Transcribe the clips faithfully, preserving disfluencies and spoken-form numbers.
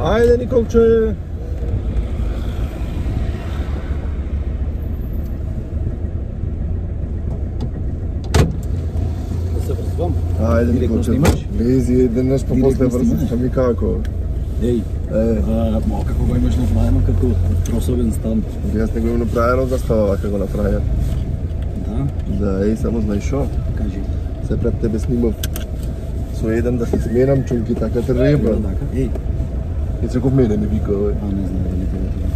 Ајде, Николче! Да се врзвам? Ајде, Николче. Лези, денес по после врзваш, ами како? Еј, ма како го имаш направено како тросовен стан? Јас не го имам направено, да става вака го направија. Да? Да, еј, само знаеш шо? Кажи. Се пред тебе снимав со еден да се сменам чулки така треба. Еј. И цеков мене ми вика, овој. А, не знам дали тебе тоа.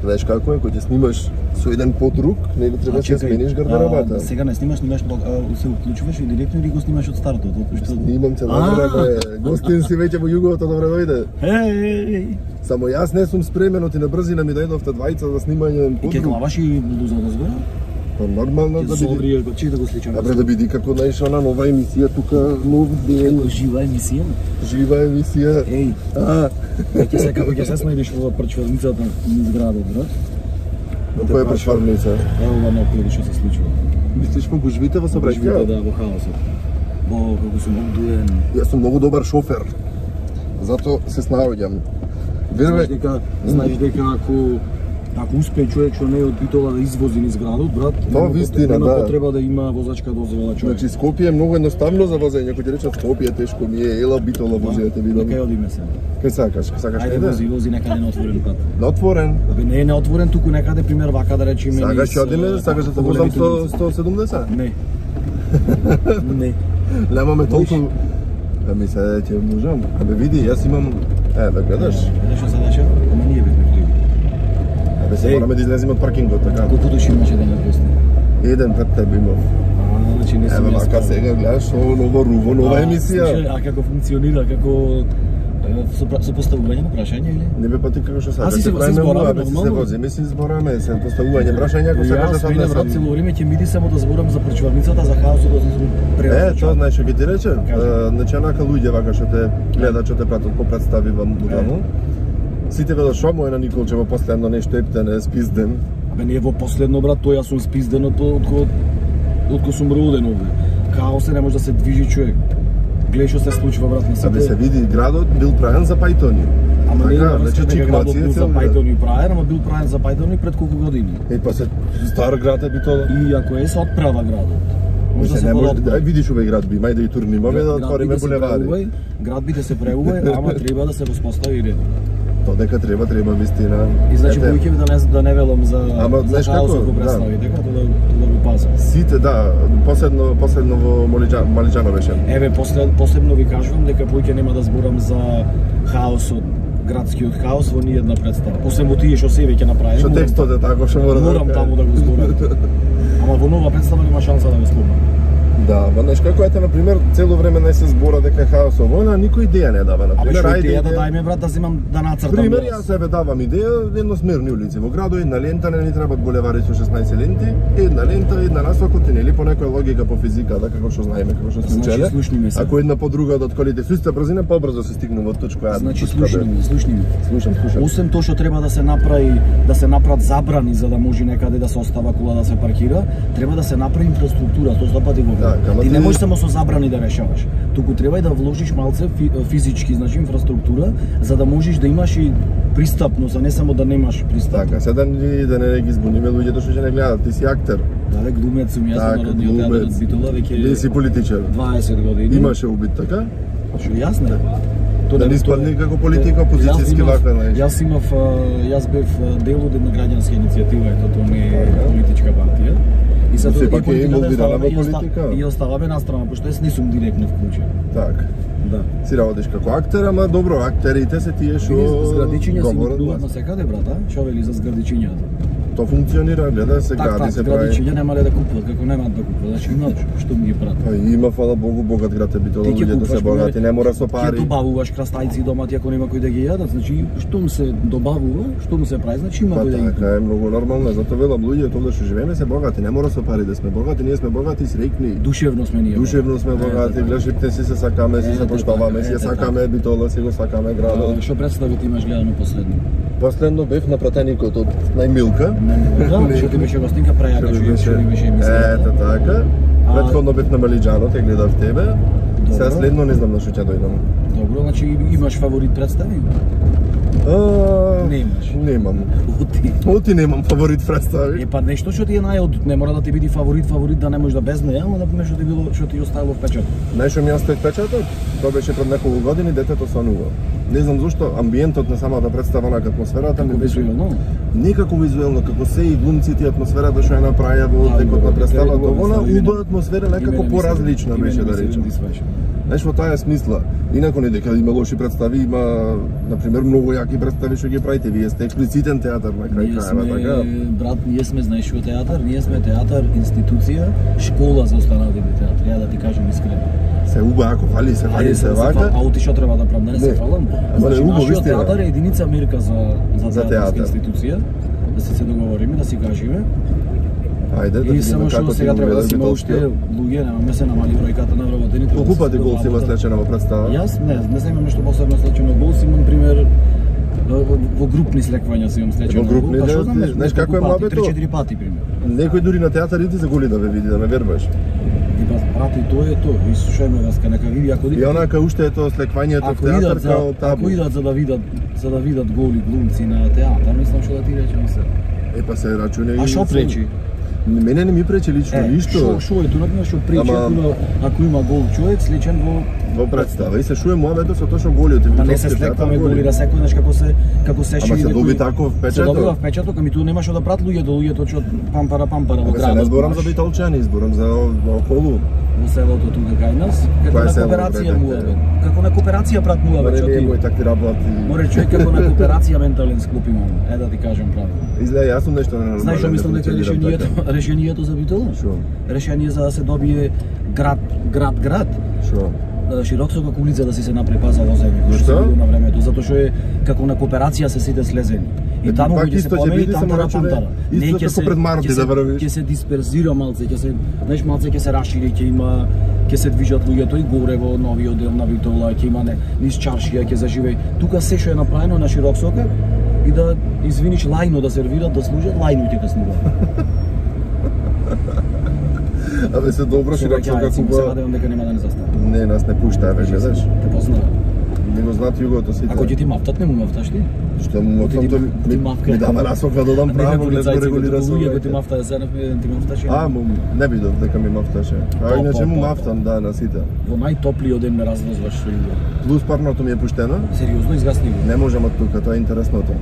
Знаеш како е, кога ќе снимаш со еден подруг, нели треба да смениш гардеробата. Сега не снимаш, снимаш, се уклучуваш и директно или го снимаш од стартот, од што снимам цела време. Гостин си веќе во југовото, добре дојде. Еј. Само јас не сум спремен, оти на брзина ми дојдовте двајца за снимање на подруг. И ќе главаш и блуза одозгора? Па нормално да биде. Ќе чек да го сличам. Абре да биде како наиш она нова емисија тука, нов ден. Како жива емисија? Жива емисија. Еј. А, ќе се како ќе се снајдеш во прчварницата низ градот, брат. Но која прчварница? Ево ова наоколу што се случува. Мислиш по гужвите во сообраќајот? Да, во хаосот. Бо како сум обдуен. Јас сум многу добар шофер. Зато се снаоѓам. Знаеш дека, знаеш дека ако ако успее човек што не е од Битола да извози низ градот, брат, тоа вистина, нема да. потреба да има возачка дозвола човек. Значи Скопје е многу едноставно за возење, кој ти речат Скопје тешко ми е, ела Битола вози да те видам. Кај одиме се? Кај сакаш, сакаш Ајде вози, вози некаде на отворен пат. На отворен? Абе не е на отворен, туку некаде пример вака да речеме. Сакаш одиме, сакаш да те возам сто и седумдесет? Не. Не. Немаме толку. Ами се ќе можам. Абе види, јас имам, е, да гледаш. Гледаш што се деша? Ама ние бевме кливи. Абе се мораме да излеземе од паркингот, така. Колку души имаше да не гости? Еден пред тебе имав. А, значи не сум јас. Еве вака сега гледаш, ново руво, нова емисија. А како функционира, како со поставување на прашања или? Не бе па ти како што сакаш. А си се збораме се вози, ми се збораме, се поставување прашања, ако сакаш да се однесам. Јас цело време ќе миди само да зборам за прчварницата, за хаосот, да се превртам. Е, тоа знаеш што ќе ти рече? Значи онака луѓе вака што те гледат, што те пратат по представи во мудално. Сите велат шо му е на Николче во последно нешто ептен е спизден. Абе не е во последно брат, тој јас сум спизден од од од сум роден овде. Хаос не може да се движи човек. Гледај што се случува брат на сите. Абе се види градот бил правен за пајтони. Ама не, значи чиквација бил за пајтони правен, ама бил правен за пајтони пред колку години. Е па се стар град е Битола. И ако е се отправа градот. Може да се може да видиш овој град би, мај да и турнимаме да отвориме булевари. Град би да се преувај, ама треба да се воспостави ред. Тоа дека треба, треба вистина. И значи поиќе да не да не велам за ама знаеш како го представи, дека тоа да го пазам. Сите да, последно последно во Малиџано беше. Еве послед посебно ви кажувам дека поиќе нема да зборам за хаосот, градскиот хаос во ни една представа. Освен во тие што се веќе направи. Што текстот е тако што мора да морам таму да го зборам. Ама во нова представа нема шанса да го спомнам. Да, ма знаеш како ете, например, цело време не се збора дека хаос ово, на никој идеја не дава, например. Абе, што идеја да дајме, брат, да земам да нацртам. Пример, јас себе давам идеја, едносмерни улици во градот, една лента, не ни требаат булевари со шеснаесет ленти, една лента, една насока, нели по некоја логика по физика, да како што знаеме, како што сме учеле. Значи, ако една по друга од колите со иста брзина, побрзо се стигнува од точка А. Значи, слушни ми, слушни ми. Слушам, слушам. Освен тоа што треба да се направи, да се направат забрани за да може некаде да се остава кола да се паркира, треба да се направи инфраструктура, тоа стопати го. Ти не можеш само со забрани да решаваш. Туку треба и да вложиш малце физички, значи инфраструктура, за да можеш да имаш и пристапност, а не само да немаш пристап. Така, сега да не ги збуниме луѓето што ќе не гледат, ти си актер. Да, глумец сум, јас на Народниот театар од Битола веќе. Ти си политичар. дваесет години. Имаше убит, така? Што јас не. Да не испадни како политика, опозицијски ваква, знаеш. Јас имав, јас бев дел од една граѓанска иницијатива, ето тоа не е политичка партија. И се пак е инволвирана во политика. И оставаме на страна, пошто јас не сум директно вклучен. Так. Да. Си работиш како актер, ама добро, актерите се тие што зградичиња си видуваат на секаде, брата, што вели за зградичињата. То функционира, гледа се так, гради так, се прави. Зградичиња нема ли да купуват, како немаат да купуват, значи имаат што ми ги прават. Па има, фала Богу, богат град е Битола, луѓето се богати, не мора со пари. Ќе добавуваш крастајци домати ако нема кој да ги јадат, значи штом се добавува, штом се прави, значи има кој да ги. Така е многу нормално, затоа велам луѓето овде што живееме се богати, не мора со пари да сме богати, ние сме богати среќни. Душевно сме ние. Душевно сме богати, гледаш ипте си се сакаме, си се поштоваме, си сакаме Битола, си го сакаме градот. Што представи ти имаш гледано последно? Последно бев на пратеникот од најмилка. Да, што ти беше гостинка прајака, што ти беше емисија. Ето така. Претходно бев на Малиџано, те гледав тебе. Сега следно не знам на што ќе дојдам. Добро, значи имаш фаворит представи? А, не имаш. Немам. Оти. Оти немам фаворит представи. Е па нешто што ти е најод, не мора да ти биде фаворит, фаворит да не можеш да без неја, ама например што ти било, што ти оставило впечаток. Најшо ми остави впечаток, тоа беше пред неколку години, детето сонува. Не знам зошто амбиентот на самата представа, на атмосферата ми беше визуелно. Некако визуелно, како се и глумците, атмосферата што ја направија во текот на представата, она убава атмосфера некако поразлична беше да речем. Знаеш, во таа смисла, инако не дека има лоши представи, има, например, многу јаки представи што ги правите, вие сте експлицитен театар на крај крајава, така? Брат, ние сме, знаеш што театар, ние сме театар, институција, школа за останатите театри, ја да ти кажем искрено. Се уба, ако фали, се фали, се вака. А оти што треба да правам, да не се фалам? Значи, нашиот театар е единица мерка за, за театарска институција, да се се договориме, да си кажеме. Ајде, да и само што сега треба да си има уште луѓе, немаме се намали бројката на вработените. Колку пати гол си има слечено во представа? Јас не, не знам нешто посебно слечено гол, си имам пример во групни слеквања си имам слечено гол. Во групни, па, да, знаеш, знаеш како е мабето? три-четири пати пример. Некој дури на театар иди за голи да ве види, да ме вербаш. И па брате, тоа е тоа. И слушајме вас, нека види ако и онака уште е тоа слеквањето во театар као табу. Ако идат за да видат, за да видат голи глумци на театар, мислам што да ти речам се. Е па се рачуне и а што пречи? Мене не ми пречи лично е, ништо. Шо, шо е тоа што пречи Ама... ако има гол човек сличен во во представа и се шуе муабето со тоа што голите. Па не се слекваме голи да секој знаеш како се како се шири. Ама се доби таков впечаток. Се добива впечаток, ами тоа нема што да прат луѓето, луѓето што пампара пампара во градот. Не зборам за битолчани, зборам за околу. Во селото тука кај нас, како на кооперација муабет. Како на кооперација прат муабет, што ти. Мој так ти работи. Море човек како на кооперација ментален склоп имам. Е да ти кажам правилно. Изгледа јас сум нешто ненормално. Знаеш што мислам дека решението, решението за битола? Шо? Решение за да се добие град, град, град. Шо? Широксока улица да си се напрепа за возење. Што? На времето, затоа што е како на кооперација се сите слезени. И таму ќе се помени тамтара памтара. Не ќе се пред Марти да врвиш. Ќе се дисперзира малце, ќе се, знаеш, малце ќе се рашири, ќе има ќе се движат луѓето и горе во новиот дел на Битола, ќе има не низ чаршија, ќе заживее. Тука се што е направено на Широксока и да извиниш лајно да сервират, да служат, лајно ќе каснува. Абе се добро Широксока куба. Се надевам дека нема да не застане. Не, нас не пуштаа веќе, знаеш. Те познава. Не го знаат југото сите. Ако ќе ти мафтат, не му мафташ ти? Што му мафтам тоа ми ми дава насока да додам право, не го регулира со. Луѓе ти мафтаа се ти мафташ. А, му не видов дека ми мафташе. А иначе му мафтам, да, на сите. Во најтоплиот ден ме развозваш со југо. Плюс парното ми е пуштено. Сериозно изгасни го. Не можам од тука, тоа е интересното.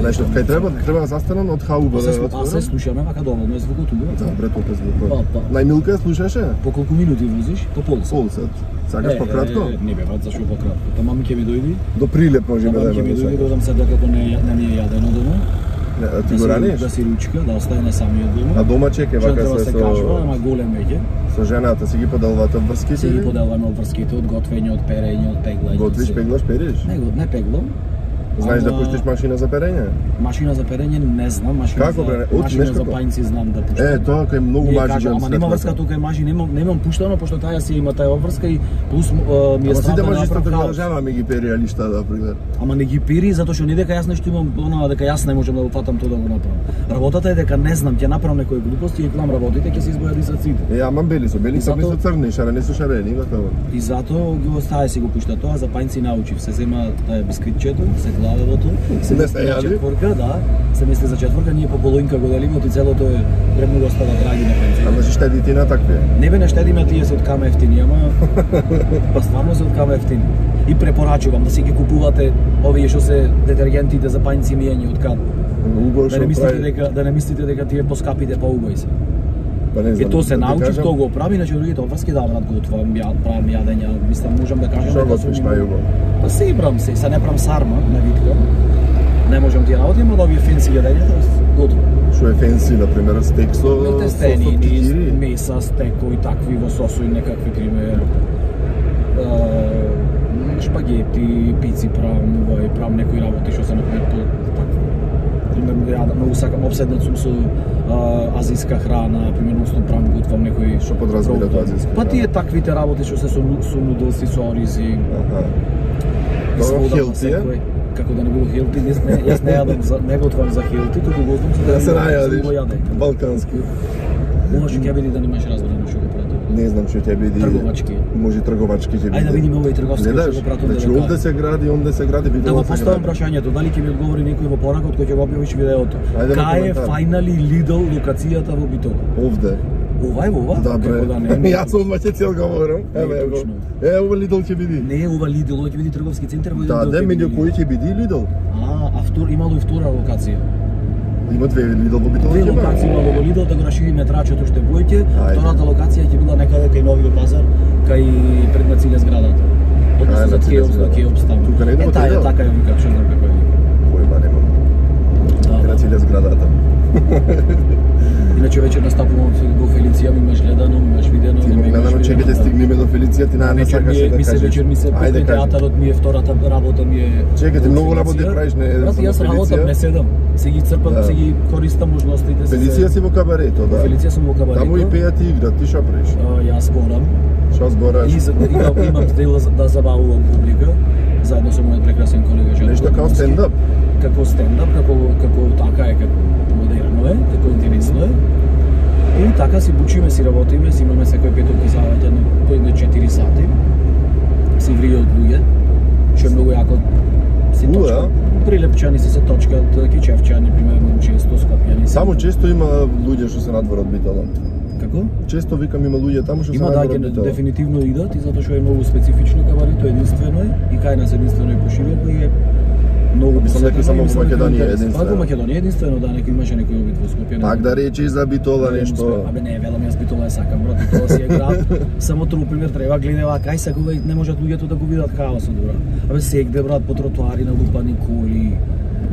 Нешто кај треба, треба да застанам од хауба да отворам. А се слушаме, мака доволно е звукот убаво. Да, брето е звукот. Најмилка слушаше? По колку минути возиш? По полсат. Полсат. Сакаш пократко? Не бе, брат, зашо пократко? Та мами ќе ми дојди. До Прилеп може да. Мами ќе ми дојди, додам се дека не не ми е јадено дома. Ти го раниш? Да си ручка, да остане самиот дома. А дома чеке вака се со кажува, ама голем веќе. Со жената си ги поделвате врските? Си ги поделваме врските од готвење, од перење, од пеглање. Готвиш, пеглаш, периш? Не, не пеглам. Знаеш да пуштиш машина за перење? Машина за перење не знам, машина како, за От, машина за пајнци знам да пуштам. Е, тоа кај многу мажи ама нема врска тука мажи, немам немам пуштано пошто таа си има таа обврска и плюс ми е страшно да направам. Ама ми ги пери алишта да пример. Ама не ги пери затоа што не дека јас нешто имам, она дека јас не можам да го фатам тоа да го направам. Работата е дека не знам, ќе направам некои глупости и клам работите ќе се избојат дисаците. Е, ама бели со бели се со црни, шарени со шарени, има тоа. И затоа го остави си го пушта тоа, за пајнци научив, се зема таа бисквитчето, се гладелото. Се места јади? Четворка, да. Се мисли за четворка, ние по полоинка го делиме, и целото е премногу остава драги на пензија. Ама се штеди ти на такви? Не бе, не штедиме, тие се од кама ефтини, ама па стварно се од кама ефтини. И препорачувам да си ги купувате овие што се детергентите за пајнци мијани од кад. Да не мислите дека да не мислите дека тие поскапите па убави се. Па не знам. И тоа се научив, тоа го прави, иначе другите обврски да брат го отварам, ја правам јадења, мислам можам да кажам дека сум на југо. Па се ибрам се, се не правам сарма, не виткам. Не можам тие работи, ама да овие фенси јадењата готово. Што е фенси, на пример, стек со тестени, меса, стеко и такви во сосо и некакви пример. Шпагети, пици правам, и правам некои работи што се например по такво. Пример, ја многу сакам, обседнат сум со азиска храна, примерно сум правам готвам некои што подразбира тоа азиска. Па тие таквите работи што се со со нудлси, со оризи. Аха. Тоа хелти е? Како да не било хелти, не, јас не јадам за не готвам за хелти, туку го знам за да се најадиш. Балкански. Може ќе биде да немаш разбрано што го правите. Не знам што ќе биде. Трговачки. Може трговачки ќе биде. Ајде да видиме овој трговски што го пратам. Значи овде се гради, онде се гради, да го поставам прашањето, дали ќе ми одговори некој во поракот кој ќе го објавиш видеото. Кај е Finally Lidl локацијата во Битола? Овде. Ова е ова? Добре. Да не. Јас одма ќе цел говорам. Еве го. Е, ова Lidl ќе биде. Не, ова Lidl, ова ќе биде трговски центар во Lidl. Да, да, меѓу кои ќе биде Lidl? А, а втор имало и втора локација. Има две Lidl во Битола. Две локации имало во Lidl, да го расшири метрачето што бојке. Втората локација ќе била некаде кај Новиот пазар, кај пред на циле зградата. Односно за Кеопс, да Кеопс таму. Тука не е таа така ја викат, што знам како е. Појма немам. Да, на циле зградата. Иначе вечер настапувам во Фелиција, ми имаш гледано, ми имаш видено. Ти ме гледано, чекате стигнеме до Фелиција, ти најме сакаш да кажеш. Ми се вечер ми се покрај театарот ми е втората работа ми е. Чекате, многу работи правиш, не е само Фелиција. Јас работам, не седам. Се ги црпам, се ги користам можностите. Фелиција си во кабарето, да. Фелиција сум во кабарето. Таму и пеат и играт, ти што правиш? Јас зборам. Што збораш? И имам дел да забавувам публика, заедно со мојот прекрасен колега Жан. Нешто као стендап? Како стендап, како како така е, како модерно е, како интересно е. И така си бучиме, си работиме, си имаме секој петок и сабота по едно четири сати. Си вријат луѓе, што е многу јако. Си точка. Прилепчани си се точкат, кичевчани, примерно, често, скопјани. Само често има луѓе што се надвор од Битола. Како? Често викам има луѓе таму што се надвор од Битола. Има да, дефинитивно идат, и затоа што е многу специфично кабарето, единствено е, и кај нас единствено е пошироко и е многу посетено. Само во Македонија единствено. Во Македонија единствено, да, некој имаше некој обид во Скопје. Пак да речи за Битола нешто. Абе не, велам јас Битола е сакам, брат, Битола си е град. Само тоа пример треба гледава кај секогаш не можат луѓето да го видат хаосот, брат. Абе сегде, брат, по тротоари налупани коли.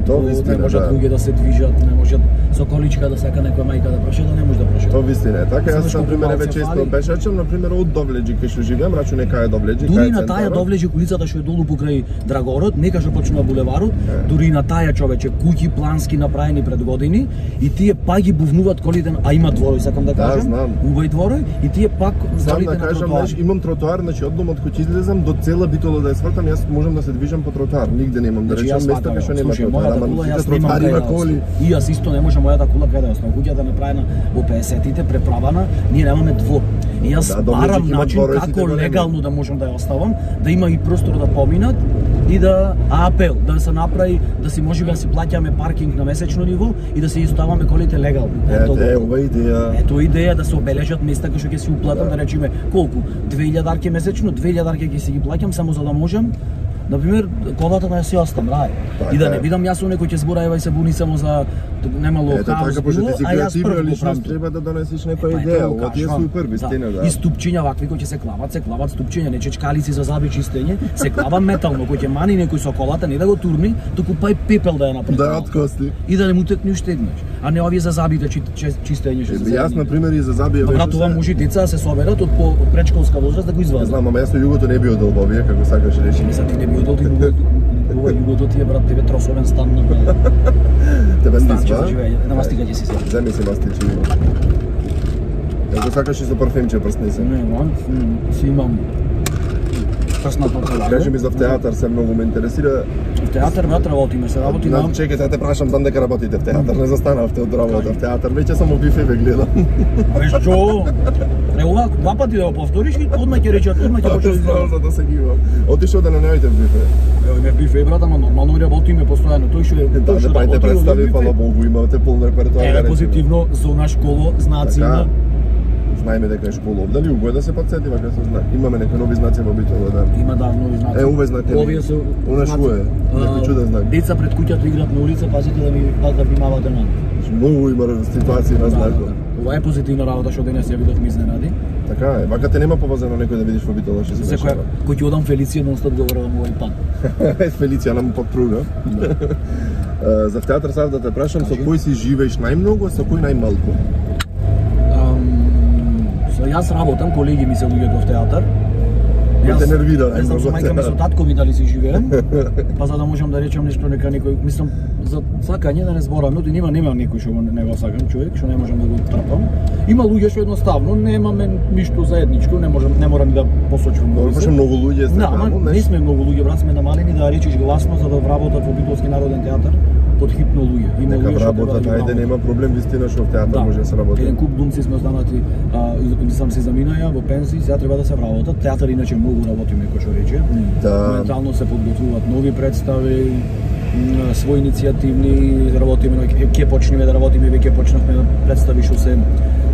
Тоа вистина, не можат да. луѓе да се движат, не можат со количка да сака некоја мајка да праша, да не може да праша. Тоа вистина е. Така јас на пример еве често пешачам, на пример од Довлеџи кај што живеам, рачу некај Довлеџи, кај дури на таа Довлеџи улицата што е долу покрај Драгород, нека што почнува булеварот, дури на таа човече куќи плански направени пред години и тие пак ги бувнуваат колите, а има дворој, сакам да кажам. Да, убај дворој и тие пак колите на тротоар. Имам тротоар, значи од домот кој ќе излезам до цела Битола да ја свртам, јас можам да се движам по тротоар, нигде немам да речам место кај што нема тротоар. И јас исто не може мојата кула каде да оставам. Куќата направена во педесетите, преправана, ние немаме двор. И јас да, барам начин како легално да можам да ја оставам, да има и простор да поминат и да апел да се направи да си можеби да си плаќаме паркинг на месечно ниво и да се оставаме колите легално. Ето, е, ова идеја. Ето идеја да се обележат места кои што ќе си уплатам, да, да речеме колку две илјади дарки месечно, две илјади дарки ќе си ги плаќам само за да можам. Например, колата да ја си остам, рај. И да не видам јас некој ќе збора ева и се буни само за немало хаос. Ето така, пошто ти си креативна личност, треба да донесиш некоја идеја. Ова ти е супер, вистина, да. И ступчиња вакви кои ќе се клават, се клават ступчиња, не чечкалици за заби чистење, се клава метално кој ќе мани некој со колата, не да го турни, туку па и пепел да ја направи. Да откости. И да не му текне уште еднаш. А не овие за забите чистење што се. Јас на пример и за заби веќе. Брат, ова мужи деца се соберат од по предшколска возраст да го извадат. Знам, ама јас со југото не би одел во овие, како сакаш речи. Мислам ти не би одел, ова југото ти е, брат, тебе тросовен стан на брат. Тебе стичва? На мастика ќе си се. Земи се мастичи. Ако сакаш и со парфемче прсни се. Не, мам, си имам прсна пакала. Кажи ми за театар, се многу ме интересира. В театар брат работиме, се работи на. Чекај, да те прашам там дека работите в театар, не застанавте од работа в театар, веќе само бифе ве гледам. Абе што? Не, ова два пати да го повториш и одма ќе речат, одма ќе почнеш за да се гивам. Отишо да не наоѓате в бифе. Ево ме бифе брат, ама нормално работиме постојано, тој што е. Да, не пајте представи, фала Богу, имате полн репертоар. Е, позитивно, зона школа, знаци на. Знаеме дека е школа. Дали уго да се подсетиме кога се знае. Имаме некои нови знаци во Битола, да. Има да нови знаци. Е, уве знаете. Овие се она што е. Некој чуден знак. Деца пред куќата играат на улица, пазите да ви да внимавате на. Многу има ситуации на знакот. Ова е позитивна работа што денес ја видовме изненади. Така е. Вака те нема повозено некој да видиш во Битола што се дешава. Кој ќе одам Фелиција нонстоп говорам овој пат. Фелиција нам подпруга. За театар сад да те прашам, со кој си живееш најмногу, а со кој најмалку? Јас работам, колеги ми се луѓето в театар. Јас те нервира, не знам со мајка ми со татко ми дали си живеем, па за да можам да речам нешто нека некој, мислам за сакање да не зборам, но нема нема некој што не го сакам човек, што не можам да го трпам. Има луѓе што едноставно немаме ништо заедничко, не можам не морам да посочувам. Добро, многу луѓе се. Да, ама не сме многу луѓе, брат, сме намалени да речиш гласно за да вработат во Битолски народен театар. подхитно луѓе. Има нека луѓе работат, ајде нема проблем, вистина што в театар да. може да се работи. Еден куп глумци сме останати, а, сам се заминаја во пензии, сега треба да се вработат. Театар иначе многу работиме, кој што рече. Да. Моментално се подготвуваат нови представи, своји иницијативни, работиме, ќе почнеме да работиме, веќе почнавме да представи што се,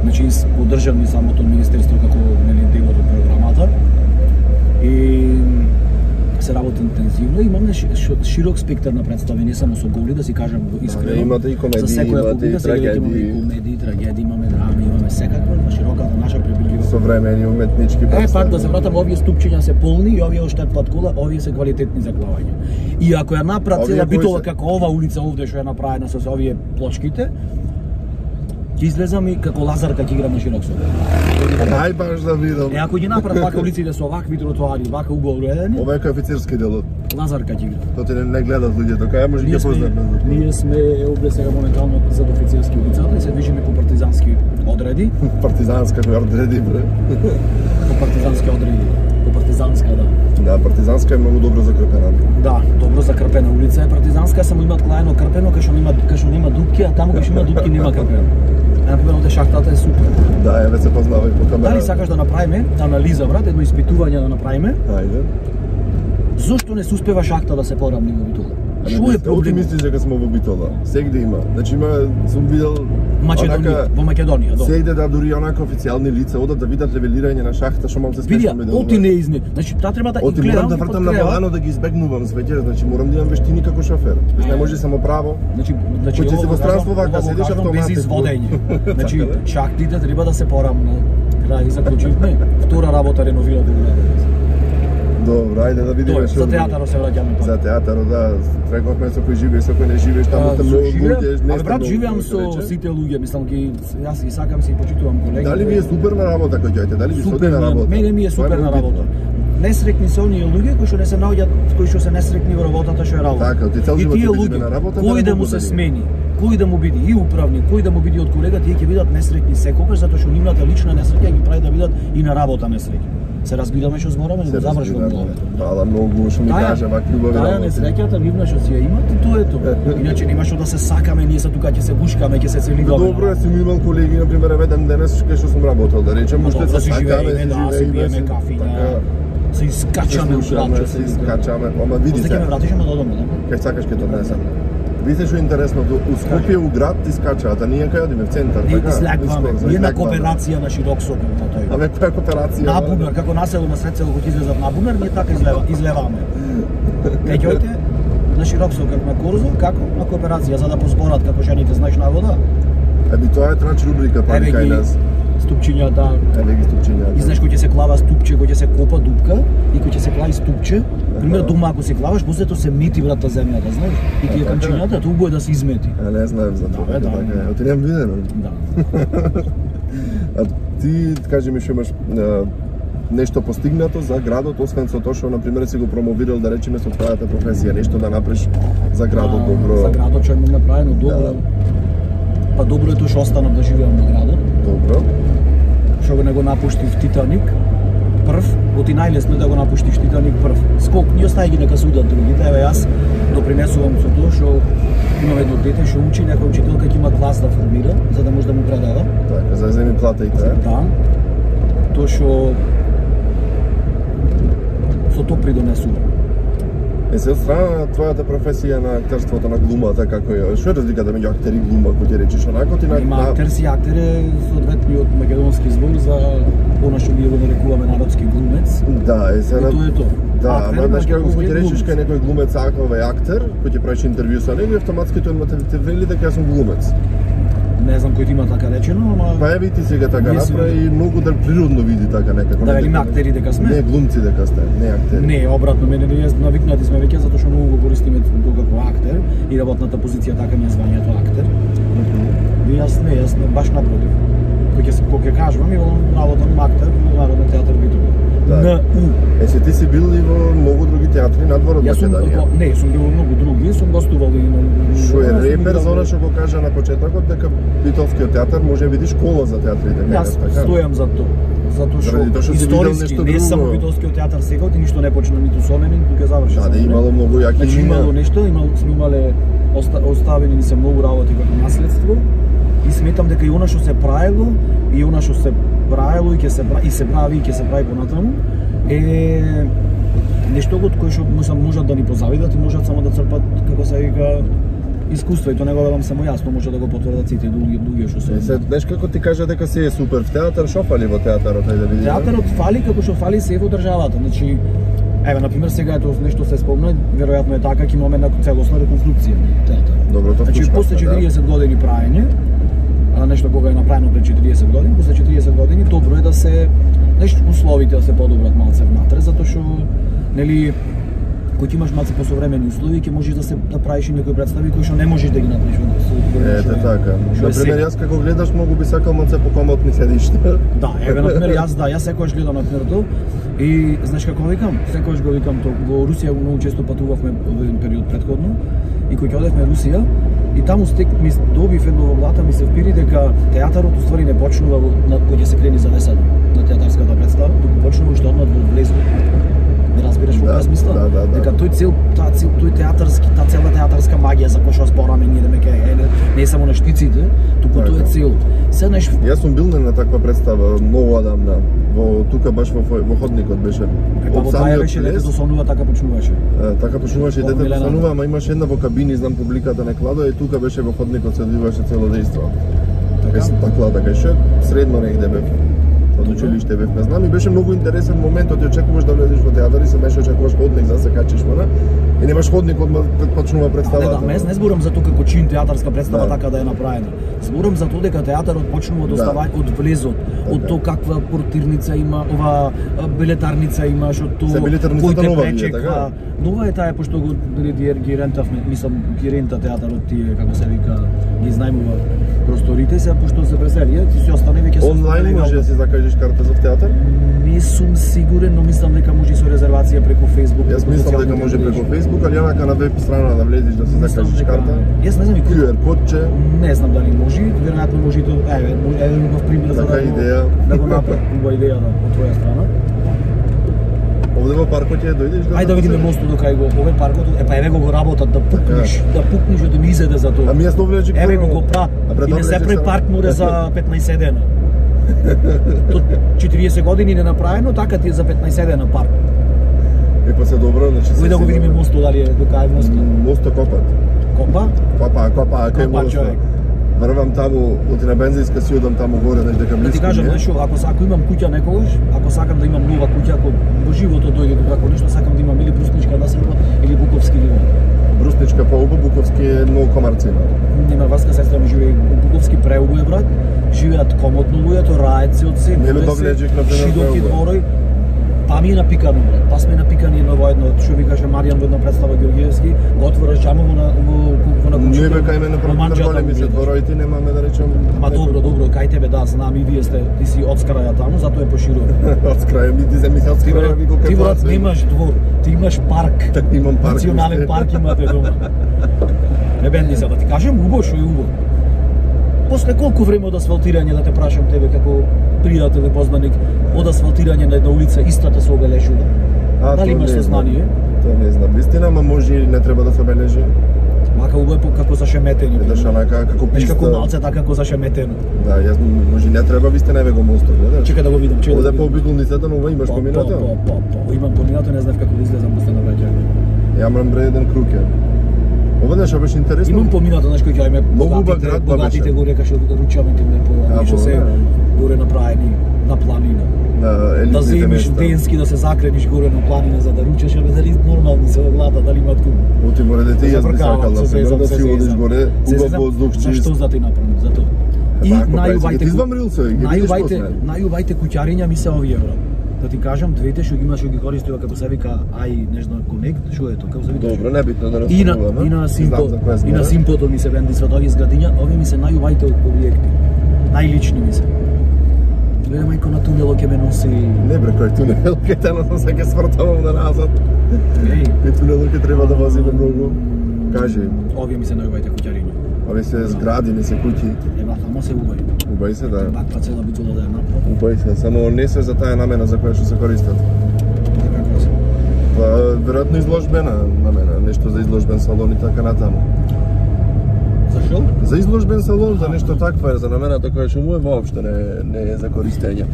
значи поддржани самото министерство како нели дел од програмата. И се работи интензивно, имаме широк спектар на представи, не само со голи, да си кажам искрено. Да, имате и комедии, за имате и трагедии. Имаме и комедии, трагедии, имаме драми, имаме секаква на широката наша прибилива. Современи уметнички представи. Е, пак да се вратам, овие ступчиња се полни и овие оштепват кола, овие се квалитетни за главање. И ако ја направи цела битола како ова улица овде што е направена со овие плочките, ќе излезам и како Лазарка ќе играм на широк сок. Ај баш да видам. Е, ако ги направат вака улиците со вакви тротоари, вака угол уредени, ова е како офицерски делот. Лазарка ќе игра. Тоа не, не гледат луѓето, кај може ќе познаат. Ние сме овде сега моментално зад офицерски улицата и се движиме по партизански одреди. Партизанска која одреди бре. По партизански одреди. По партизанска, да. Да, партизанска е многу добро закрпена. Да, добро закрпена улица е партизанска, само имаат клајно крпено, кај што нема кај што нема дупки, а таму кај што има дупки нема крпено. Например, овде шахтата е супер. Да, еве се познава и по камера. Дали сакаш да направиме анализа, брат, едно испитување да направиме? Ајде. Зошто не се успева шахта да се поравни во Битола? Што е проблем? Ти мислиш дека сме во Битола? Сегде има. Значи има, сум видел Македонија, во Македонија, да. Сегде да дури онака официјални лица одат да видат левелирање на шахта, што малку се смешно ми делува. Оти не изне. Значи таа треба да Оти морам да вртам на волано да ги избегнувам свеќе, значи морам да имам вештини како шофер. Без не може само право. Значи, значи Кој си во странство вака седиш автоматично. Без изводење. Значи шахтите треба да се порамно. Крај заклучивме. Втора работа реновира Белград. Добро, ајде да видиме што. За театарот се враќаме. За театарот, да, рековме со кој живееш, со кој не живееш, таму те многу луѓе, не. Абе брат, живеам со сите луѓе, мислам ги јас ги сакам се и почитувам колеги. Дали ви е суперна работа кој ѓајте? Дали ви супер работа? Мене ми е суперна работа. Несрекни се оние луѓе кои што не се наоѓаат, кои што се несрекни во работата што е работа. Така, ти цел живот ќе биде на работа. Кој да му се смени, кој да му биде и управник, кој да му биде од колега, тие ќе бидат несрекни секогаш затоа што нивната лична несреќа ги прави да бидат и на работа несреќни. Се разбираме што збораме, не го завршувам главата. Фала многу што ми кажа вакви убави работи. Таа несреќата нивна што си ја имат и тоа е тоа. Иначе нема што да се сакаме, ние се тука ќе се бушкаме, ќе се целиваме. Добро, јас сум имал колеги, на пример, еден денес кај што сум работел, да речем, уште се сакаме, да си пиеме кафиња. Се искачаме у градче, се искачаме. Ама види се. Сега ме вратиш ама додому, да? Кај сакаш ќе тоа донесам. Видите што е интересното, у Скопје у град ти скачаат, а ние кај одиме в центар, така? Излегваме, ние на кооперација на широк сок на тој. Абе, која кооперација? На бунар, како насело на сред село кој излезат на бунар, ние така излева, излеваме. Кај ќојте на широк сок на Корзо, како на кооперација за да позборат како жените знаеш на вода. Еби тоа е трач рубрика па кај нас. Ступчињата. Еве ги ступчињата. И знаеш кој ќе се клава ступче, кој ќе се копа дупка и кој ќе се клави ступче. Пример дома ако се клаваш, после тоа се мети врата земјата, знаеш? И тие камчињата тоа е да се измети. А не знаем за тоа. Да, така е. Оти немам видено. Да. А ти кажи ми што имаш нешто постигнато за градот, освен со тоа што на пример си го промовирал да речеме со твојата професија, нешто да направиш за градот добро. За градот што е направено добро. Па добро е тоа што останав да живеам во градот. Добро. Што го не го напуштив Титаник прв, оти најлесно да го напуштиш Титаник прв. Скок, ние остај ги нека судат другите, еве јас допринесувам со тоа што имам едно дете што учи, некоја учителка ќе има клас да формира, за да може да му предава. Така, за да земи плата и тоа. Да. Тоа што со тоа придонесувам. Е, се од страна на твојата професија на актерството, на глумата, како е, што е разликата меѓу актер и глума, кој ти речеш онако ти на... Има актер си, актер е соодветниот македонски збор за она што ние го нарекуваме народски глумец. Да, е се на... И тоа е тоа. Да, ама знаеш како кој ти речеш глумец. кај некој глумец акова е актер, кој ти правиш интервју со него, автоматски тој те вели дека јас сум глумец. Не знам кој ти има така речено, ама... Па е ти сега така направи и многу да природно види така некако. Да велиме актери дека сме? Не, глумци дека сте, не актери. Не, обратно, мене не е навикнати сме веќе затоа што многу го користиме тоа како актер и работната позиција така ми е звањето актер. И јас не, јас не, баш напротив. Кој ќе кој ќе кажувам и работам актер во Народен театар Битола. Да. На У. Е, се ти си бил и во многу други театри надвор од Македонија. Не, сум бил во многу други, сум гостувал и на... Што е репер за она што го кажа на почетокот дека Битолскиот театар може да биде школа за театрите. Јас така? стојам за тоа. затоа што Заради тоа што си видел историски нешто не друго. само Видовскиот театар сега, ти ништо не почна ниту со мене, ниту ќе заврши. Да, да, имало многу јаки Значи имена. имало нешто, имало сме имале оста, оставени ни се многу работи како наследство и сметам дека и она што се правело и она што се правело и ќе се и се прави и ќе се прави понатаму е нешто од кое што можат да ни позавидат и можат само да црпат како се вика искуство, и тоа не го велам само јас, но може да го потврдат сите други други што се. Се, знаеш како ти кажа дека си е супер в театар, што фали во театарот, ајде да видиме. Театарот фали како што фали се во државата. Значи, еве на пример сега ето нешто се спомна, веројатно е така, ќе имаме една целосна реконструкција на театар. Добро, тоа Значи после четириесет да. години праење, а нешто кога е направено пред четириесет години, после четириесет години добро е да се нешто условите да се подобрат малце внатре, затоа што нели кој имаш малце посовремени услови, ќе можеш да се да правиш и некои представи кои што не можеш да ги направиш во Ете така. На пример, јас како гледаш многу би сакал малце покомотни седишта. Да, еве на пример јас да, јас секогаш гледам на пример тоа и знаеш како викам, секогаш го викам тоа. Во Русија многу често патувавме во еден период претходно и кога ќе одевме во Русија и таму стек ми добив едно во главата ми се впири дека театарот уствари не почнува на кога ќе се крени за десет на театарската представа, туку почнува уште однад во влезу. Не разбираш во да, каква смисла? Да, да, да. Дека тој цел, таа цел, тој театарски, таа цела театарска магија за која што збораме ние да ме ке, не, не е само на штиците, туку тоа е цел. Се неш Јас сум бил на таква представа многу одамна. Во тука баш во во ходникот беше. Па во таја беше детето сонува, така почнуваше. Е, така почнуваше и детето сонува, ама имаше една во кабини, знам публиката не кладо и тука беше во ходникот се одвиваше цело дејство. Така се така така ше средно негде бев. Од училиште бев, не знам, и беше многу интересен моментот, ти очекуваш да влезеш во театар и се беше очекуваш ходник за да се качиш вона. И немаш ходник одма почнува представата. Не, да, не зборам за тоа како чин театарска представа да. така да е направена. Зборам за тоа дека театарот почнува да остава да. од влезот, така. Од тоа каква портирница има, ова билетарница имаш, од тоа кој те пречеква. Нова е таа пошто го ги рентавме, мислам ги рента театарот тие како се вика, ги знајмува просторите се пошто се преселија, ти си остане веќе со онлайн може да си закажеш карта за театар? Не сум сигурен, но мислам дека може со резервација преку Facebook. Јас мислам дека може преку Facebook, али онака на веб страна да влезеш да си закажеш карта. Јас не знам и Q R кодче. Не знам дали може, веројатно може и тоа. Еве, еве убав пример за така идеја. Да го направи убава идеја да од твоја страна. Овде во паркот ќе дојдеш да. Ајде да видиме мостот до кај го, овој паркот, е па еве го го работат да пукнеш, да пукнеш да ми изеде за тоа. Ами јас добро рече. Еве го го прат. И не се препарк море за петнаесет дена. Tot четириесет години не направено, така ти е за петнаесет дена парк. Е па се добро, значи се. Кој да го видиме мостот, дали е до кај мостот? Мостот копат. Копа? Копа, копа, кај Копа, мостот. Врвам таму, оти на бензинска си одам таму горе, знаеш дека близко. Да ти кажам, знаеш, ако ако имам куќа некогаш, ако сакам да имам нова куќа, ако во животот дојде до како нешто, сакам да имам или брусничка населба или буковски ливад. Брусничка по-убо, буковски е многу комарци има. Нема врска, сестра ми живее во буковски преубо е брат. Живеат комотно луѓето, раеци од се. Нели доблежик на шидоки дворој. Па ми е напикано, брат. Па сме напикани во едно, што ви каже Маријан во една представа Георгиевски, го отвораш џамово на во во на куќата. Не бе кај мене пропитер големи се двороите, немаме да речам. Ма добро, добро, кај тебе да, знам и вие сте, ти си од скраја таму, затоа е поширува. Од скраја ми ти се мисли од скраја ви го Ти брат немаш двор, ти имаш парк. Так имам парк. Национален парк имате дома. Не бенди се да ти кажем, убаво што е убаво. После колку време од асфалтирање да те прашам тебе како пријател и познаник, од асфалтирање на една улица истата се обележува? Дали имаш сознание? Тоа не знам. Вистина, ама може и не треба да се обележи. Мака убаво како зашеметено. Едаш онака како писта. Како малце така како зашеметено. Да, јас може не треба вистина еве го мостот, гледаш. Чека да го видам, чека. Овде по обиколницата, но ова имаш поминато? По, по, по, имам поминато, не знам како да излезам после на враќање. Јамрам бре еден круг. Ова нешто беше интересно. Имам поминато, знаеш кој ќе име богатите, богатите го рекаше ручавите не по, што се горе направени на планина. Да земиш денски да се закрениш горе на планина за да ручаш, абе дали нормални се во главата, дали имат кум. Оти море дете јас би сакал да се да си одиш горе, убав воздух чист. Зашто за ти направам за тоа? И најубавите најубавите најубавите куќариња ми се овие брат. Да ти кажам, двете што ги имаш што ги користува како се вика ај нешто конект, што е тоа, како се вика? Добро, небитно да И на и на Симпо, и на Симпото ми се бендисват овие зградиња, овие ми се најубавите објекти. Најлични ми се. Гледа мајко на тунелот ќе ме носи. Не бре, кој тунел, ќе те носам се ќе свртавам на назад. Еј, кој тунелот ќе треба да возиме многу. Кажи. Овие ми се најубавите куќариња. Овие се згради, не се куќи. Еба, само се убави. Убај се, да. Баква цела битола да ја направи. Убај се, само не се за таа намена за која што се користат. Како се? Па, веројатно изложбена намена, нешто за изложбен салон и така натаму. За шо? За изложбен салон, за нешто таква, за намената која што му е воопшто не, не е за користење.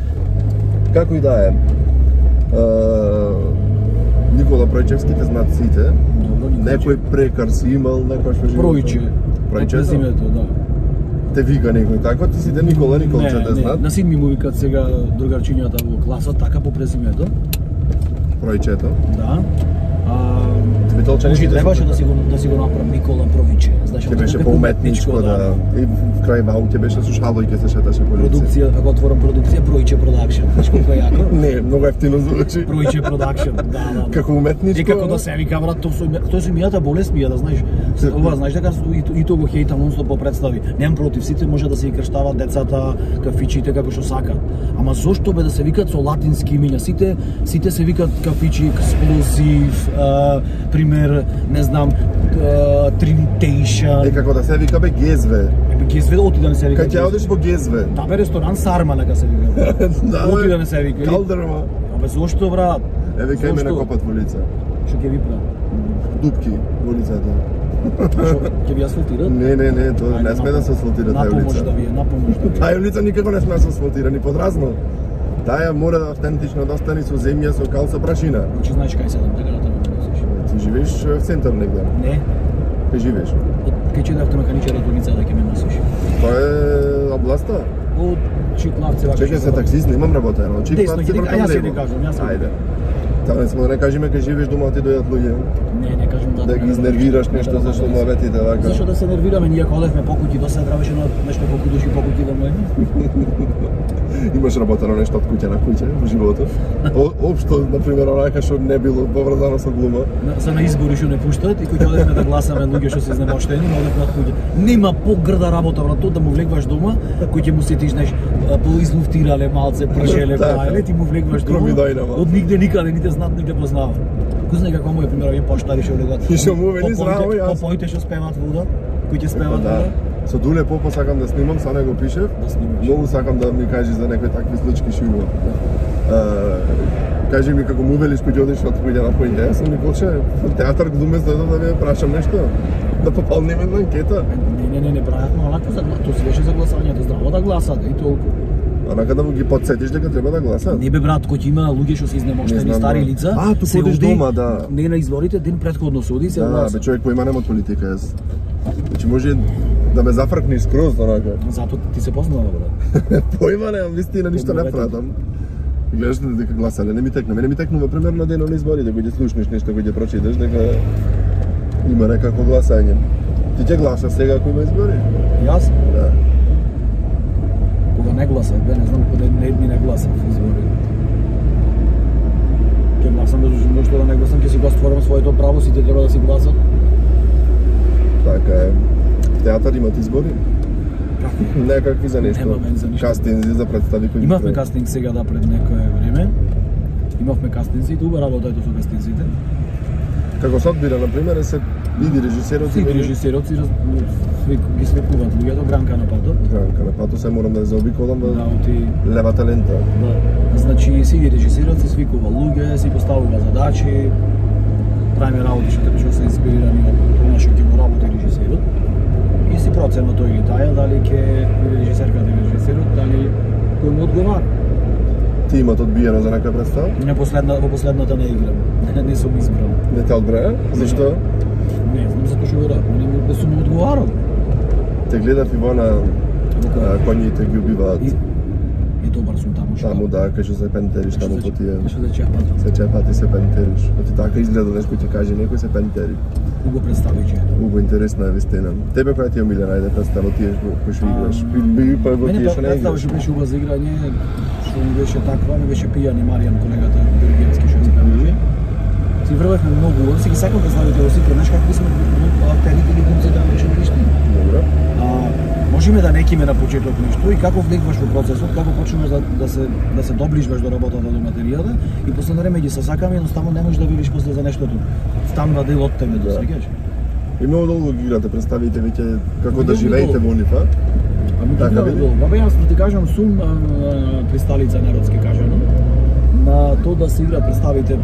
Како и да е. Никола Пројчевските знаат сите. Добро, некој прекар си имал, некој што живее. Пројче. Пројче Презимето, да. Те вика некој така, ти сите Никола Николче те знаат. На син ми му викаат сега другарчињата во класот така по презимето. Пројчето. Да. А, Битолчаните требаше да си го да си го направам Никола Провиче. Знаеш, ќе беше поуметничко, да. И крај вау ќе беше со шалој ќе се шеташе по лице. Продукција, ако отворам продукција Пројче продакшн. Знаеш колку е јако? Не, многу ефтино звучи. Пројче продакшн. Да, да. Како уметничко. И како да се вика брат, тоа со тоа со мијата болест мија, да знаеш. Ова знаеш дека и, и тоа го хејтам нонстоп по представи. Немам против, сите може да се и крштаваат децата, кафичите како што сакаат. Ама зошто бе да се викаат со латински имиња? Сите сите се викаат кафичи, експлозив, а, пример, не знам, Тринтейшн. Е како да се вика бе Гезве. Е бе Гезве оти да не се вика. Кај ќе одиш во Гезве? Да бе ресторан Сарма нека се вика. Да, оти да не се вика. Калдерма. Абе зошто брат? Еве кај мене копат во лице. Што ќе ви прават? Дупки во лицето. Што ќе ви асфалтират? Не, не, не, тоа не сме да се асфалтира таа улица. На помош да ви е, на помош да ви е. Таа улица никако не сме да се асфалтира ни подразно. Таа мора да автентично да остане со земја, со кал, со прашина. Значи знаеш кај седам, така да тоа носиш. Ти живееш в центар негде? Не. Кај живееш? Кај че да автомеханичарот во лица да ќе ме носиш. Тоа е областа? Од Чиклавци вака. Чекај се таксист, немам работа, но Чиклавци вртам лево. Јас ќе не кажам, јас. Ајде. Таа не сме да не кажеме кај живееш дома ти дојдат луѓе. Не, не кажам да. Да ги изнервираш нешто зашто муабетите вака. Зашто да се нервираме, ние ходевме по куќи, доста требаше нешто колку души по куќи да му е. Имаш работено нешто од куќа на куќа во животот? Општо, на пример, онака што не било поврзано со глума. За на избори што не пуштат и кој одевме да гласаме луѓе што се изнемоштени, одевме од куќа. Нема погрда работа на тоа да му влегваш дома, кој ќе му сетиш неш поизлуфтирале малце, пржеле, праеле, ти му влегваш дома. Од нигде никаде ните знаат, ните познаваат. Кој знае како му е пример овие поштари што влегат. И што му вели здраво јас. Попоите што спеваат вода, кои ќе спеваат вода. Со Дуле Попо сакам да снимам, са не го пишев. Да снимаш. Многу сакам да ми кажеш за некои такви случки што има. Кажи ми како му велиш кој одиш од куќа на поинте, јас сум Николче, театар глумец дојдов да ви прашам нешто, да попълним една анкета. Не, не, не, не правевме онака за тоа си беше за гласањето, здраво да гласат и толку. Онака да му ги подсетиш дека треба да гласат. Не бе брат, кој има луѓе што се изнемоштени стари лица. А, ту ходиш дома, да. Не на изборите, ден претходно се оди се гласа. Да, бе човек поима нема од политика јас. Значи може да ме зафркнеш скроз онака. Затоа ти се познава брат. Поима немам, вистина ништо не пратам. Гледаш дека гласале, не ми текна. Мене ми текнува примерно денот на изборите, кога ќе слушнеш нешто, кога ќе прочиташ дека има некако гласање. Ти ќе гласаш сега ако има избори? Јас? Да. Кога не гласав, бе, не знам кога не едни не гласав избори. Ќе гласам, да што да не гласам, ќе си го стварам своето право, сите треба да си гласат. Така е. Театар имат избори? Какви? Некакви за нешто. Немаме за ништо. Кастинзи за представи кои. Имавме кастинг сега да пред некое време. Имавме кастинзи, туба работајте со кастинзите. Како се одбира, на пример, се види режисерот и режисерот си ги свикуваат луѓето Гранка на патот. Гранка на патот, се морам да ја заобиколам да оти левата лента. Да. Значи си ги режисерот си свикува луѓе, си поставува задачи, правиме работи што се инспирирани од тоа што ќе го работи режисерот. И си проценува тој или таја, дали ќе режисерката или режисерот, дали кој му одговара. Ти имат одбиено за некоја представа? Не, последна, во последната не играм. Не, не сум избран. Не те одбраја? Зашто? Не, знам затоа што го радам. Не, не сум одговарал. Те гледав и во на коњите ги убиваат. И, и добар сум таму што. Таму да, кај што се пентериш таму по тие. Што се чепат. Се чепат и се пентериш. Оти така изгледа нешко ти каже некој се пентери. Убо представиче. Убо интересна е вистина. Тебе која ти е омилена, ајде представа тие кои што играш. Би па го тие што не играш. Представа што беше убаво за играње, што ми беше таква, ми беше пијани Маријан колегата Георгиевски што спеваше. Си врвавме многу, си ги сакам представите во сите, знаеш како сме актерите или глумците на беше ништо. Добро. А можеме да не киме на почеток нешто и како влегваш во процесот, како почнуваш да, да се да се доближуваш до работата, до материјалот и после време ги сосакаме, едноставно не можеш да видиш после за нештото. Станува дел од тебе, да сеќаш. И многу долго ги играте, представите веќе како да живеете во нив, а? Ами така бе долго. Бе јас да ти кажам сум присталица народски кажано на тоа да се игра представите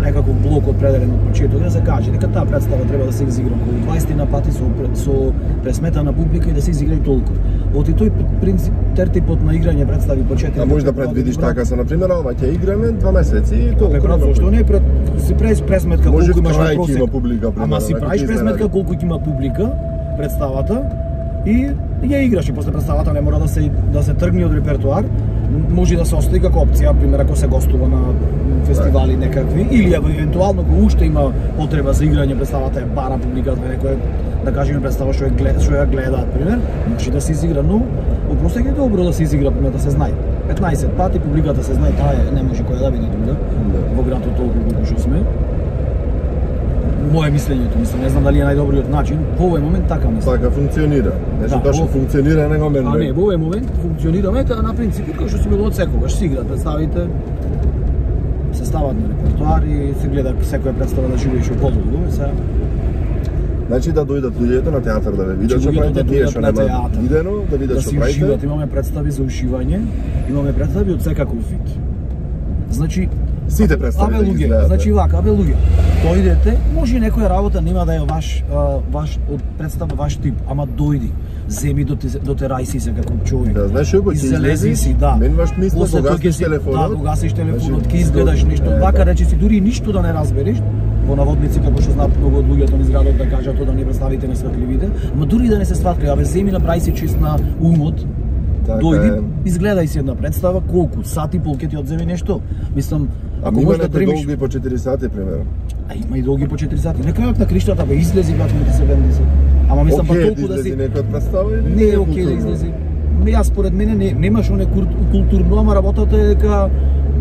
некако блок определен од почеток, да се каже дека таа представа треба да се изигра околу дваесет на пати со со пресметана публика и да се изигра и толку. Од и тој принцип тертипот на играње представи по четири. А може да предвидиш така со на пример, ова ќе играме два месеци и толку. Бе брат, зошто не пред си правиш пресметка колку имаш на просек. Има публика, пример. Ама си правиш пресметка колку ќе има публика представата и ја играш и после представата не мора да се да се тргне од репертоар. Може да се остави како опција, пример ако се гостува на фестивали некакви или евентуално кога уште има потреба за играње, представата е бара публиката, некој да кажеме представа што е глед, што ја гледаат, пример, може да се изигра, но во просек е добро да се изигра, пример да се знае. петнаесет пати публиката се знае, таа е, не може која да биде друга во градот толку колку што сме. Моје мислењето, мислам, не знам дали е најдобриот начин, во овој момент така мислам. Така функционира. Нешто да, точно функционира, него мене. А не, во овој момент функционира мета на принципот кој што си било од секогаш, си играат представите, се стават на репертоар и се гледа секоја представа да живее што подолго, се. Значи да дојдат луѓето на театар да ве видат што правите, тие што нема видено, да видат што правите. Да си имаме представи за ушивање, имаме представи од секаков вид. Значи сите представи да ги гледате. Значи вака, абе луѓе, дојдете, може некоја работа нема да е ваш ваш од представа ваш тип, ама дојди. Земи до те, до те рајси се како човек. Да, знаеш како ќе излезеш, си, да. Мен ваш мисла кога гасиш телефонот. Да, кога гасиш телефонот, ќе изгледаш нешто, вака речи си дури ништо да не разбереш. Во наводници како што знаат многу од луѓето низ градот да кажат тоа да не представите несватливите, ама дури да не се сватли, абе земи направи си чист на умот. Така дојди, е. Изгледај си една представа, колку сати пол ќе ти одземе нешто. Мислам, ако можеш да дремиш долги по четири сати примерно. А има и долги по четири сати. На крајот на криштата бе излези брат ми седемдесет. Ама мислам па толку да си некој представа или не е окей да излези. Јас според мене не немаш оне културно, ама работата е дека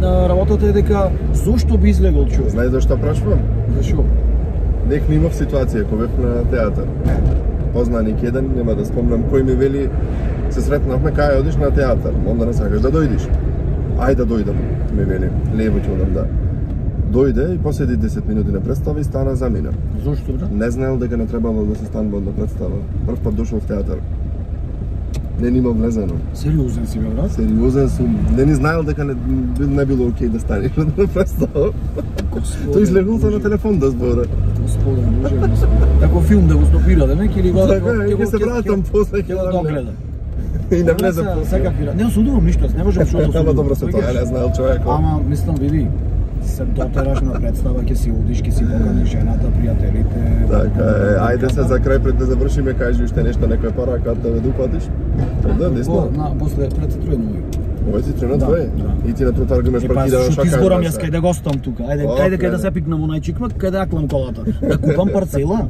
работата е дека зошто би излегол човек. Знаеш зашто прашувам? Зашо? Нек не имав ситуација кога бев на театар. Познаник еден, нема да спомнам кој ми вели, се сретнавме кај одиш на театар, онда не сакаш да дојдиш. Ај да дојдам, ми вели, лево ќе одам да. Дојде и поседи десет минути на представа и стана за мене. Зошто бре? Не знаел дека не требало да се станува на представа. Прв пат дошол в театар. Не нима влезено. Сериозен си бе, брат? Сериозен сум. Не ни знаел дека не, не било окей да станеш на представа. Тој излегол се на телефон да збора. Господе, Боже, Господе. Како филм да го стопира, да не? Или го ќе се вратам после ќе го догледам. И не влезам после. Секакви. Не судувам ништо, не можам што да судувам. Ама добро се тоа, не знаел човек. Ама мислам види, се дотераш на представа, ќе си одиш, ќе си поканиш жената, пријателите. Така е, ајде се за крај пред да завршиме, кажи уште нешто, некоја порака да ве допатиш. Да, десно. На после пред тренување. Овој си тренат твој? И ти на тротар имаш партида на шака. Е, па, изборам јас кај да гостам тука. Ајде, ајде кај да се пикнам онај чикмак, кај да аклам колата. Да купам парцела.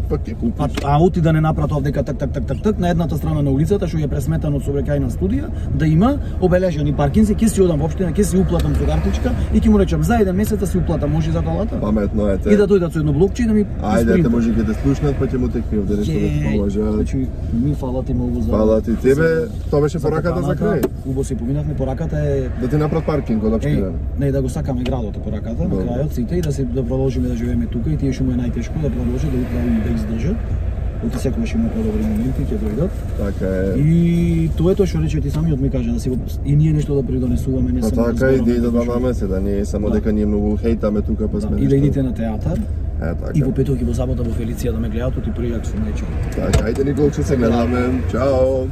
Па ќе купиш. А оти да не напратов дека так так так так так на едната страна на улицата што е пресметано од сообраќајна студија, да има обележани паркинзи, ќе си одам во општина, ќе си уплатам со картичка и ќе му речам за еден месец да си уплатам, може за колата. Паметно е те. И да дојдат со едно блокче и да ми ајде те може ќе те слушнат, па ќе му текне овде нешто да поможат. Значи ми фала ти многу за. Фала ти тебе, тоа беше пораката за крај. Убаво си поминавме, пораката е да ти направат паркинг од општина. Не, да го сакаме градот пораката на крајот сите и да се да продолжиме да живееме тука и тие што му е најтешко да продолжат да управи да издржат. Оти секогаш има подобри моменти ќе дојдат. Така е. И тоа е тоа што рече ти самиот ми кажа да си и ние нешто да придонесуваме, не само. Така и да додаваме се да не е само дека ние многу хейтаме тука па сме. И да идите на театар. Е, така. И во петок и во сабота во Фелиција да ме гледаат, оти пријак сум најчо. Така, ајде Николче се гледаме. Чао.